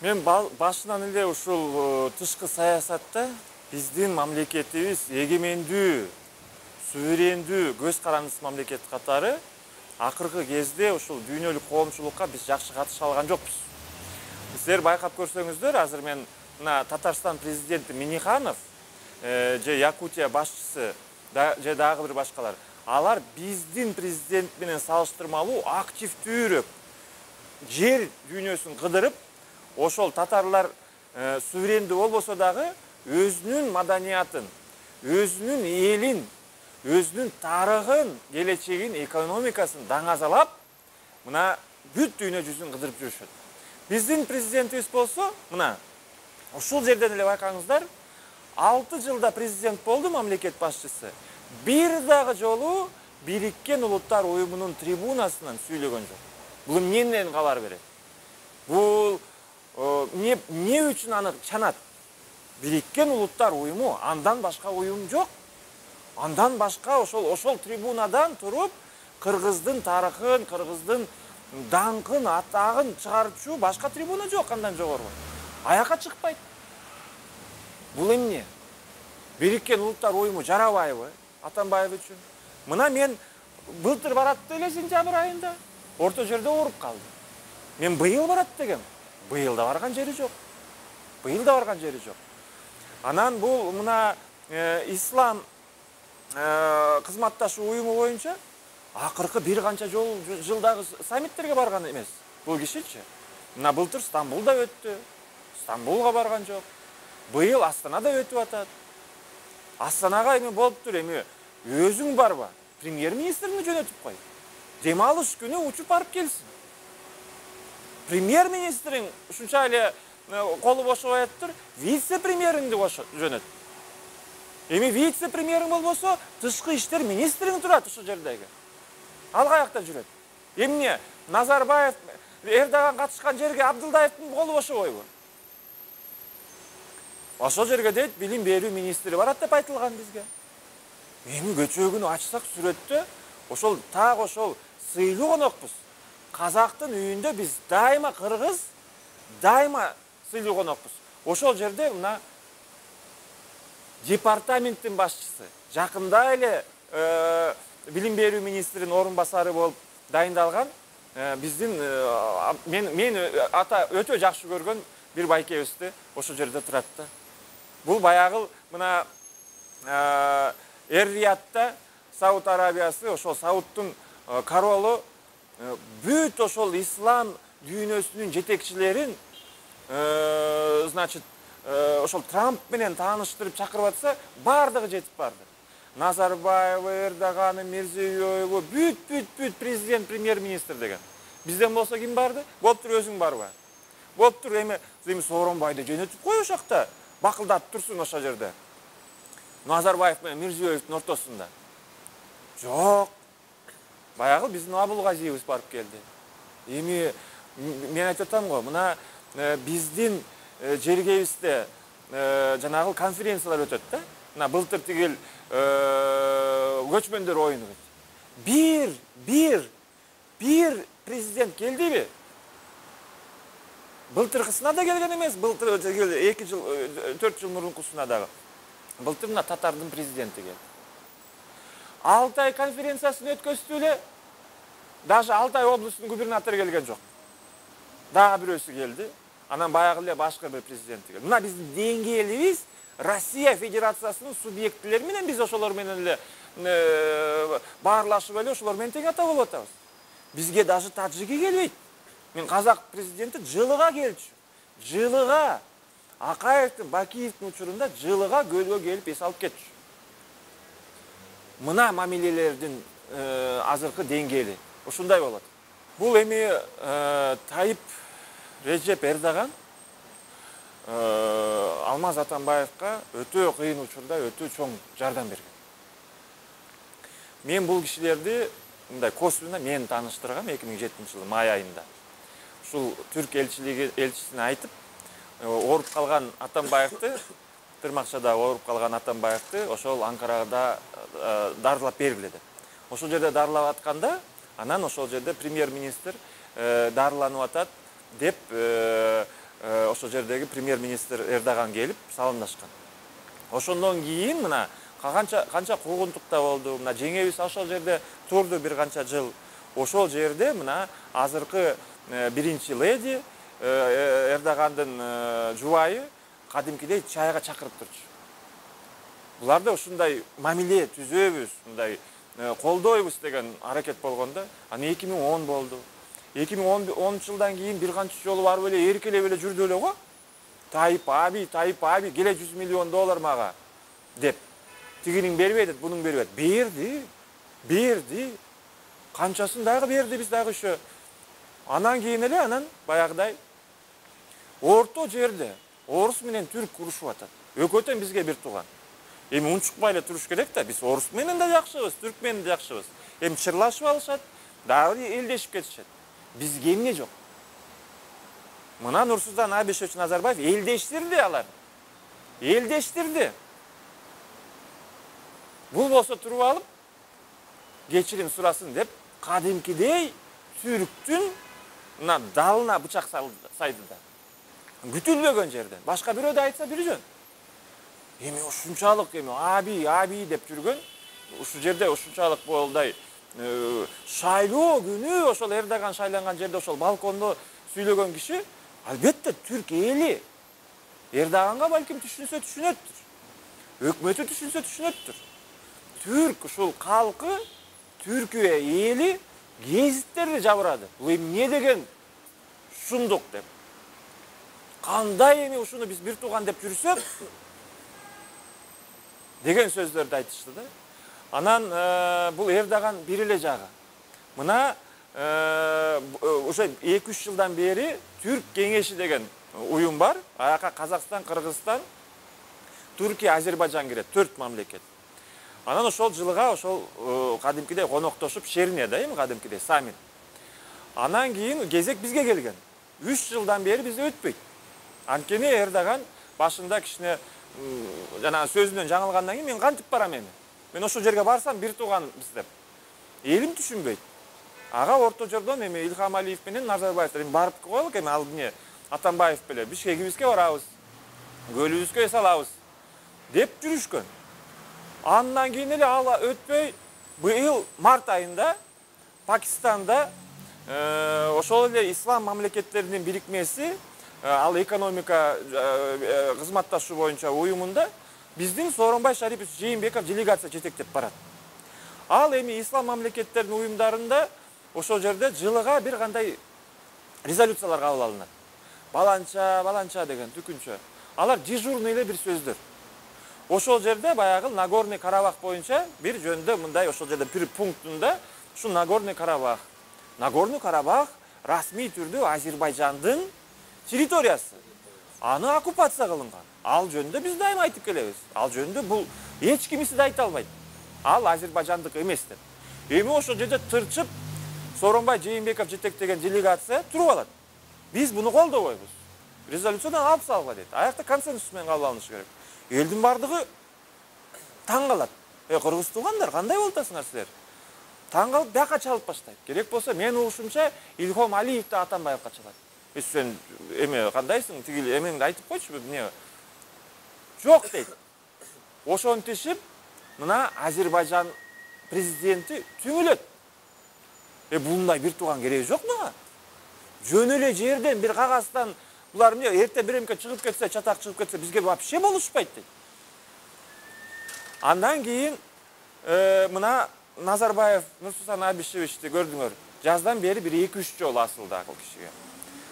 Мен башынан эле ушул тышкы саясатта биздин мамлекетибиз эгемендүү, суверендүү, көз карандысыз мамлекет катары акыркы кезде ушул дүйнөлүк коомчулукка биз жакшы катыша алган жокпуз. Сиздер байкап көрсөңүздөр, азыр мен мына Татарстан президенти Миниханов же Якутия башчысы же дагы бир башкалар, алар биздин президент менен салыштырмалуу активдүүрөөк жер дүйнөсүн кыдырып, ошол татарлар суверендүү болбосо дагы өзүнүн маданиятын, өзүнүн элин, өзүнүн тарыхын, келечегин, экономикасын даңазалап, мына бүт дүйнө жүзүн кыдырып жүрүшөт. Биздин президентибиз болсо, мына ушул жерден эле байкаңыздар, 6 жылда президент болду мамлекет башчысы. Бир дагы жолу Бириккен Улуттар Уюмунун трибунасынан сүйлөгөн жок. Бул эмнеден кабар берет? Бул эмне үчүн аны чанат? Бириккен Улуттар Уюму, андан башка уюм жок. Андан башка ошол трибунадан туруп кыргыздын тарыхын, кыргыздын даңкын, атагын чыгарчу башка трибуна жок андан жогору. Аяка чыкпайт. Бул эмне? Бириккен Улуттар Уюму жарабайбы Атамбаев үчүн? Мына мен былтыр барат эле сентябрь айында орто жерде ооруп калды. Мен быйыл барат дегем. Быйыл да барган жери жок. Быйыл да барган жери жок. Анан бул мына ислам кызматташуу уюму боюнча акыркы бир канча жылдагы саммиттерге барган эмес. Бул кишичи. Мына былтыр Стамбулда өттү. Стамбулга барган жок. Быйыл Астанада өтүп атат. Астанага эми болуптур, эми өзүң барба. Премьер-министрини жөнөтүп кой. Дем алыш күнү учуп барып келсин. Премьер-министриң ушунча эле колу бошобой атыптыр, вице-премьериңди жөнөт. Эми вице-премьериң болбосо, тышкы иштер министриң турат ушул жердеги. Ал каякта жүрөт? Эмне? Назарбаев, Эрдоган катышкан жерге Абдылдаевдин колу бошобойбу? Ошол жерге дейт, билим берүү министри барат деп айтылган бизге. Эми көчөгүнү ачсак сүрөттө, ошол так ошол сыйлуу конокпуз. Казактын үйүндө биз дайыма кыргыз, дайыма сыйлуу конокпуз. Ошол жерде мына департаменттин башчысы, жакында эле билим берүү министринин орун басары болуп дайындалган биздин мен ата өтө жакшы көргөн бир байкебизди ошол жерде турат да. Бул баягы мына Эр-Риядта Сауд Арабиясы, ошол Саудтун королу бүт ошол ислам дүйнөсүнүн жетекчилерин значит ошол Трамп менен тааныштырып чакырып атса, бардыгы жетип барды. Назарбаев, Эрдоган, Мирзиёев, бүт президент, премьер-министр деген. Бизден болсо ким барды? Болуптур, өзүң барба. Болуптур, эми Сооронбайды жөнөтүп кой ошакта. Бакылдатып турсун ошол жерде. Назарбаев менен Мирзиёевдин ортосунда. Жок. Баягы биздин Абулгазиевиз барып келди. Эми мен айтып атам го, мына биздин жергебизде жанагы конференциялар өтөт да. Мына былтыр тигил көчмөндөр оюну. Бир президент келдиби? Былтыркысына да келген эмес, былтыр 2 жыл, 4 жыл мурункусуна дагы. Былтыр мына Татардын президенти келди. Алтай конференциясын өткөздү эле, даже Алтай облусунун губернатору келген жок. Дагы бирөөсү келди. Анан баягы эле башка бир президент келди. Мына биздин деңгээлибиз Россия Федерациясынын субъектилери менен биз ошолор менен эле баарлашып эле ошолор менен тең ата болуп атабыз. Бизге даже таджики келбейт. Мен казак президенти жылыга келчү. Жылыга Акаевдин, Бакиевдин учурунда жылыга көлгө келип эс алып кетчү. Мына мамилелердин азыркы деңгээли ушундай болот. Бул эми Тайып Режеп Эрдоган Алмаз Атамбаевка өтө кыйын учурда өтө чоң жардам берген. Мен бул кишилерди мындай косвенно мен тааныштыргам 2007-жылы май айында. Ушул Түрк элчисине айтып, ооруп калган Атамбаевди, Тырмакчада ооруп калган Атамбаевди ошол Анкарада дарылап бергиле деп. Ошол жерде дарылап атканда, анан ошол жерде премьер-министр дарыланып атат деп ошол жердеги премьер-министр Эрдоган келип саламдашкан. Ошондон кийин мына канча куугунтукта болду. Мына жеңебиз ошол жерде турду бир канча жыл. Ошол жерде мына азыркы биринчи леди Эрдогандын жубайы кадимкидей чайга чакырып турчу. Буларды ушундай мамиле түзөбүз, мындай колдойбуз деген аракет болгондо, аны 2010 болду. 2010 жылдан кийин бир канча жолу барып эле эркелеп эле жүрдү эле го. Таип аби келе $100 миллион мага деп. Тигинин бербей деп, бунун бербей. Берди. Канчасын дагы берди биз дагы ошо. Анан кийин эле баягыдай орто жерде орус менен түрк урушуп атат. Экөөтөн бизге бир тууган. Эми унчукпай эле туруш керек да, биз орус менен да жакшыбыз, түрк менен да жакшыбыз. Эми чырлашып алышат, дагы элдешип кетишет. Бизге эмне жок? Мына Нурсултан Абишевич Назарбаев элдештирди алар. Элдештирди. Бул болсо туруп алып кечирим сурасын деп кадимкидей түрктүн мына далына бычак сайды да. Күтүлбөгөн жерден. Башка бирөө да айтса бир жөн. Эми ушунчалык аби деп жүргөн, ушул жерде ушунчалык болдай шайлоо күнү ошол Эрдоган шайланган жерде ошол балкондо сүйлөгөн киши албетте түрк эли. Эрдоганга балким түшүнөттүр. Өкмөтү түшүнөттүр. Түрк ушул калкы, Түркия эли гезиттерди жабырады. Бул эмне деген шундук деп. Кандай эми ушуну биз бир тууган деп жүрсөк деген сөздөрдү айтышты да. Анан бул Эрдоган бир эле жагы. Мына ошо 2-3 жылдан бери Түрк кеңеши деген уюм бар. Аяка Казакстан, Кыргызстан, Түркия, Азербайжан кирет, 4 мамлекет. Анан ошол жылга ошол кадимкидей коноктошуп шерине да эми кадимкидей саммит. Анан кийин кезек бизге келген. 3 жылдан бери бизде өтпөйт. Анткени Эрдоган башында кичине жана сөзүнөн жаңылгандан кийин мен кантип барам эми? Мен ошол жерге барсам бир тууганбыз деп. Элим түшүнбөйт. Ага орто жордон эми Илхам Алиев менен Назарбаев эми барып коелук эми ал эмне Атамбаев беле Бишкегибизге барабыз. Көлүбүзгө салабыз деп жүрүшкөн. Андан кийин эле ал өтпөй быйыл март айында Пакистанда ошол эле ислам мамлекеттеринин бирикмеси ал экономика кызматташуу боюнча уюмунда биздин Сооронбай Шарипович Жээнбеков делегация жетектеп барат. Ал эми ислам мамлекеттеринин уюмдарында ошол жерде жылыга бир кандай резолюциялар кабыл алынат. Баланча деген түкүнчө. Алар дежурный эле бир сөздөр. Ошол жерде баягы Нагорный Карабах боюнча бир жөндө мындай ошол жерде бир пунктунда ушу Нагорный Карабах расмий түрдө Азербайжандын территориясы. Аны оккупация кылынган. Ал жөнүндө биз дайыма айтып келебиз. Ал жөнүндө бул эч кимиси да айта албайт. Ал Азербайжандык эмес деп. Эми ошол жерде тырчып Сооронбай Жээнбеков жетектеген делегация туруп алат. Биз буну колдобойбуз. Резолюциядан алып салгыла дейт. Аякта консенсус менен кабыл алынышы керек. Элдин бардыгы таң калат. Кыргыз туугандар, кандай болуп атасыңар силер? Таң калып бияка чалып баштайт. Керек болсо мен угушумча Илхам Алиев да Атамбаевка чалат. Сен эме кандайсың? Тигил эмеңди айтып койчу, эмне? Жок дейт. Ошентишип, мына Азербайжан президенти түңүлөт. Булундай бир тууган кереги жок мага. Жөн эле жерден бир кагаздан булар эмне эрте биремке чыгып кетсе, чатак чыгып кетсе, бизге вообще болушпайт дейт. Андан кийин мына Назарбаев, Нурсултан Абишевичти көрдүңөр. Жаздан бери бир 2-3 жолу асылды ал кишиге.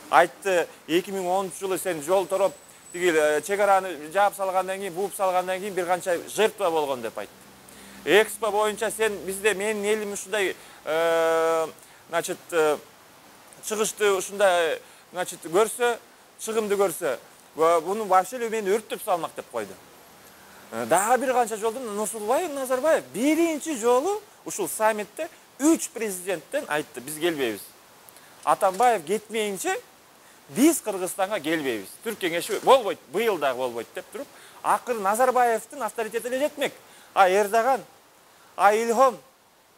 Айтты, 2010 жылы сен жол тороп, тигил чегараны жаап салгандан кийин, бууп салгандан кийин бир канча жертва болгон деп айтты. Экспо боюнча сен бизде менин элим ушундай значит чыгышты ушундай значит көрсө, чыгымды көрсө, буну вообще эле мени өрттөп салмак деп койду. Дагы бир канча жолдон Нурсултан Назарбаев биринчи жолу ушул саммитте 3 президенттен айтты, биз келбейбиз. Атамбаев кетмейинче биз Кыргызстанга келбейбиз. Түрк кеңеши болбойт, быйыл дагы болбойт деп туруп, акыры Назарбаевдин авторитети эле жетмек. Эрдоган, Илхам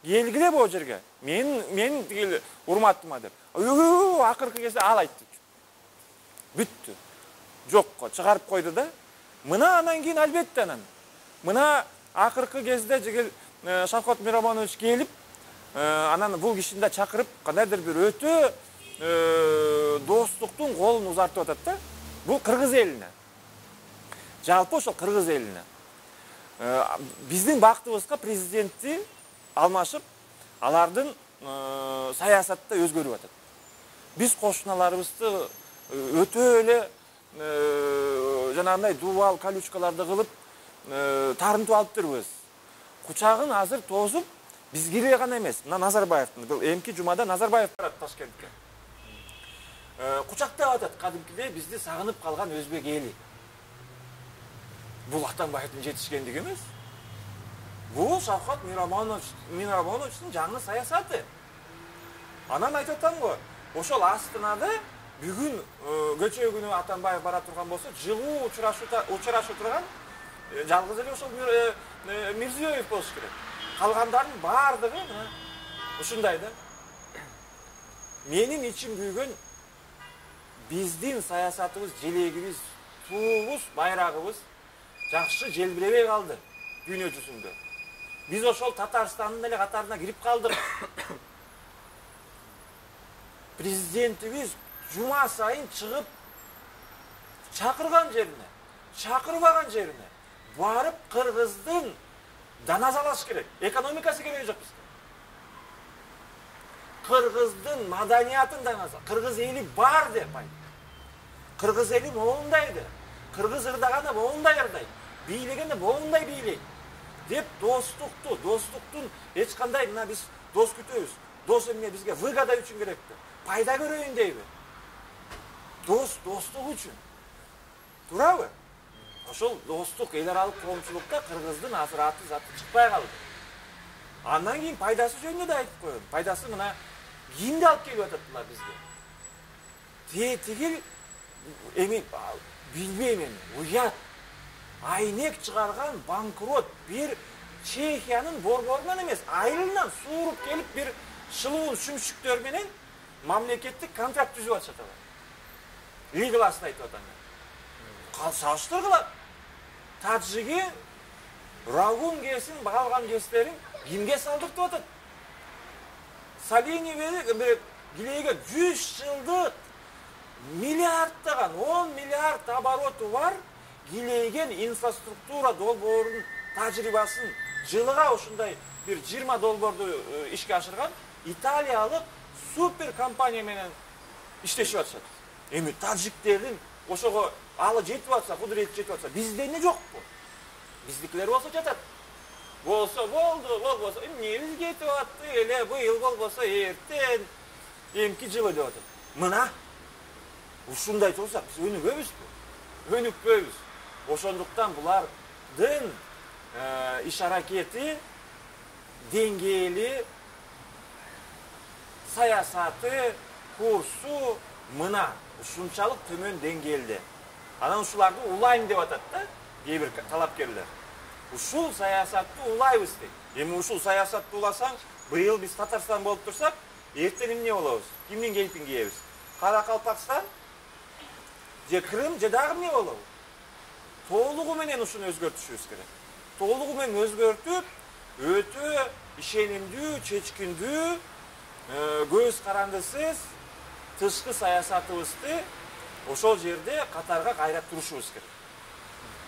келгиле бул жерге. Мен тигил урматтыма деп. Акыркы кезде ал айтты. Бүттү. жокко чыгарып койду да. Мына анан кийин албетте мына акыркы кезде жигил Шавкат Миромонович келип, анан бул кишини да чакырып, кандайдыр бир өтө достуктун колун узартып атат да. Бул кыргыз элине. Жалпы ошол кыргыз элине. Биздин бактыбызга президентти алмашып, алардын саясаты өзгөрүп атат. Биз кошуналарыбызды өтө эле жанагындай дубал колючкаларды кылып тарынтып алыптырбыз. Кучагын азыр тозуп, бизге гана эмес, мына Назарбаевдин бул эмки жумада Назарбаев барат Ташкентке. Кучактап атат кадимкидей бизди сагынып калган өзбек эли. Бул Атамбаевдин жетишкендиги эмес. Бул Шавкат Миромоновичтин жаңы саясаты. Анан айтып атам го, ошол Астанада бүгүн көчө күнү Атамбаев бара турган болсо, жылуу учурашуу турган жалгыз эле ошол Мирзиёев болуш керек. Калгандардын баардыгы ушундай да. Менин ичим күйгөн биздин саясатыбыз, желегибиз, туубуз, байрагыбыз жакшы желбиребей калды дүйнө жүзүндө. Биз ошол Татарстандын эле катарына кирип калдык. Президентибиз жума сайын чыгып чакырган жерине, чакырбаган жерине барып кыргыздын даназалаш керек. Экономикасы кереги жок бизге. Кыргыздын маданиятын даназа. Кыргыз эли бар деп айт. Кыргыз эли моундайды. Кыргыз ырдаганда моундай ырдайт. Бийлегенде моундай бийлейт. Деп достуктун эч кандай мына биз дос күтөбүз. Дос эмне бизге выгода үчүн керекпи? Пайда көрөйүн дейби? Достук үчүн. Туурабы? Ошол достук эл аралык коомчулукта кыргыздын азыр аты заты чыкпай калды. Андан кийин пайдасы жөнүндө да айтып коеюн. Пайдасы мына кимди алып келип атат бизге? Тигил эми билбейм эми, уят. Айнек чыгарган банкрот бир Чехиянын борборунан эмес, айылынан сууруп келип бир шылуун шүмшүктөр менен мамлекеттик контракт түзүп атышат алар. Лигласын айтып атам. Салыштыргыла. Таджиги Рагун кесин, калган кестерин кимге салдыртып атат? Салини Гилейге 100 жылдык миллиардтаган 10 миллиард обороту бар Гилейген инфраструктура долбоорунун тажрыйбасын жылыга ушундай бир 20 долбоорду ишке ашырган италиялык супер компания менен иштешип атышат. Эми таджиктердин ошого алы жетип атса, кудурети жетип атса, бизде эмне жокпу? Биздикилер болсо жатат. Болсо болду, болбосо эмне бизге жетип атты, эле быйыл болбосо эртен эмки жылы деп атат. Мына ушундай турсак биз өнүгөбүзбү? Өнүкпөйбүз. Ошондуктан булардын иш аракети, деңгээли, саясаты, курсу мына ушунчалык төмөн деңгээлде. Анан ушуларды улайм деп атат да, кээ бир талапкерлер. Ушул саясатты улайбыз дейт. Эми ушул саясатты уласаң, быйыл биз Татарстан болуп турсак, эртең эмне болобуз? Кимдин кейпин кийебиз? Каракалпакстан же Крым же дагы эмне болобу? Толугу менен ушуну өзгөртүшүбүз керек. Толугу менен өзгөртүп, өтө ишенимдүү, чечкиндүү, көз карандысыз тышкы саясатыбызды ошол жерде катарга кайрап турушубуз керек.